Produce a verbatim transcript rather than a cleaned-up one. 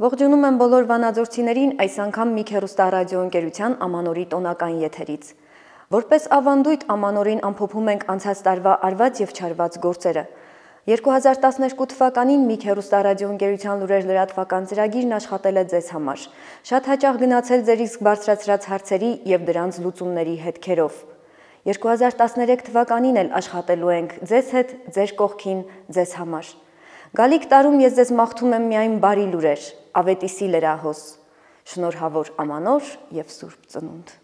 Ողջունում եմ բոլոր վանաձորցիներին այս անգամ մի հեռուստառադիոընկերության Ամանորի տոնական եթերից։ Որպես ավանդույթ Ամանորին ամփոփում ենք անցած տարվա արված եւ չարված գործերը։ երկու հազար տասներկու թվականին մի հեռուստառադիոընկերության լուրեր լրատվական ծրագիրն աշխատել է ձեզ համար։ Շատ հաճախ գնացել ձեր իսկ բարձրացրած հարցերի եւ դրանց լուծումների հետքերով։ երկու հազար տասներեք թվականին էլ աշխատելու ենք ձեզ հետ, ձեր կողքին, ձեզ համար։ Գալիք տարում ես ձեզ մաղթում եմ միայն բարի լուրեր, ավետիսի լրահոս, շնորհավոր Ամանոր եւ Սուրբ Ծնունդ։